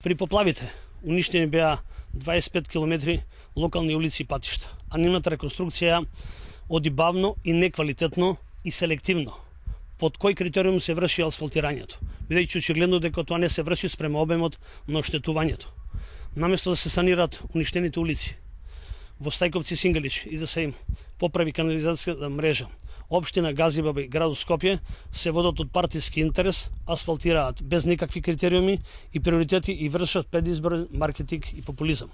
При поплавите уништени беа 25 километри локални улици и патишта, а нивната реконструкција оди бавно и неквалитетно и селективно. Под кој критериум се врши асфалтирањето, бидејќи очигледно дека тоа не се врши спрема обемот на оштетувањето. Наместо да се санираат уништените улици во Стајковци и Сингалич и да се им поправи канализацијската мрежа, Општина Газибаба и градот Скопје се водат од партиски интерес, асфалтираат без никакви критериуми и приоритети и вршат предизборен маркетинг и популизам.